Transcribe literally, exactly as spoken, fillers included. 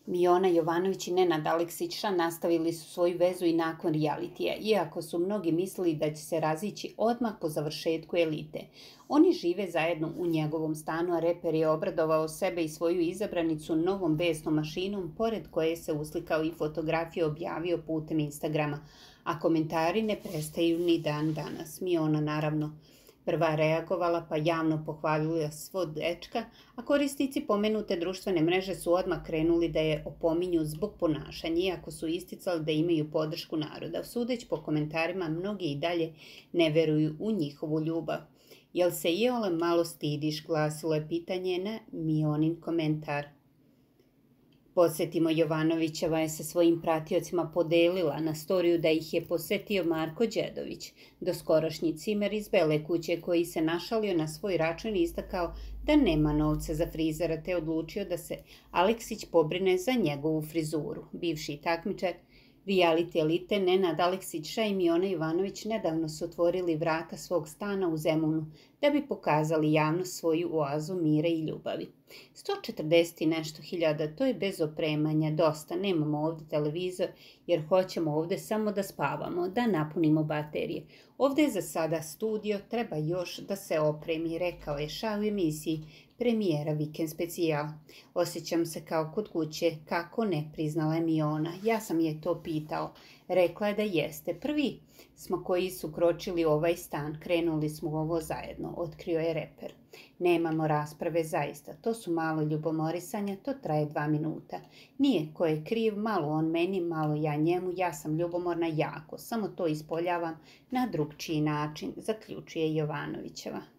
Miona Jovanović i Nenad Aleksića nastavili su svoju vezu i nakon realitija, iako su mnogi mislili da će se razići odmah po završetku Elite. Oni žive zajedno u njegovom stanu, a reper je obradovao sebe i svoju izabranicu novom besnom mašinom, pored koje se uslikao i fotografije objavio putem Instagrama, a komentari ne prestaju ni dan danas. Miona naravno prva reagovala pa javno pohvalila svog dečka, a korisnici pomenute društvene mreže su odmah krenuli da je opominju zbog ponašanja, iako su isticali da imaju podršku naroda. Sudeć po komentarima, mnogi i dalje ne veruju u njihovu ljubav. Jel se iole malo stidiš, glasilo je pitanje na Mionin komentar. Podsjetimo, Jovanovićeva je sa svojim pratiocima podelila na storiju da ih je posetio Marko Đedović, doskorašnji cimer iz Bele kuće, koji se našalio na svoj račun i istakao da nema novca za frizera, te odlučio da se Aleksić pobrine za njegovu frizuru. Bivši takmičar reality Elite Nenad Aleksić i Miona Jovanović nedavno su otvorili vrata svog stana u Zemunu da bi pokazali javnost svoju oazu mira i ljubavi. sto četrdeset i nešto hiljada, to je bez opremanja, dosta, nemamo ovdje televizor jer hoćemo ovdje samo da spavamo, da napunimo baterije. Ovdje je za sada studio, treba još da se opremi, rekao je Ša u emisiji premijera Vikend specijal. Osjećam se kao kod kuće, kako ne, priznala je Miona. Ja sam je to pitao. Rekla je da jeste. Prvi smo koji su kročili u ovaj stan, krenuli smo ovo zajedno, otkrio je reper. Nemamo rasprave zaista, to su malo ljubomorisanja, to traje dva minuta. Nije ko je kriv, malo on meni, malo ja njemu, ja sam ljubomorna jako, samo to ispoljavam na drugčiji način, zaključuje Jovanovićeva.